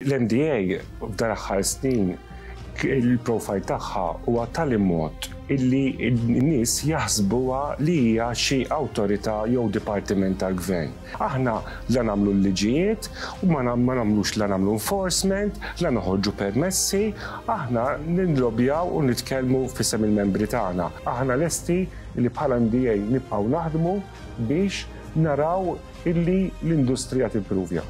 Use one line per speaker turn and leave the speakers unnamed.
L-MDA f'dan l-aħħar snin il-profile tagħha huwa tali mod illi n-nies jaħsbuha li hija xi awtorità jew dipartiment tal-gvern. Aħna la nagħmlu l-liġijiet u ma nagħmlux, la nagħmlu enforcement, la noħorġu permessi, aħna nillobjaw u nitkellmu f'isem il-membri tagħna. Aħna lesti li bħala MDA nibqgħu naħdmu biex naraw illi l-industrija timpruvja.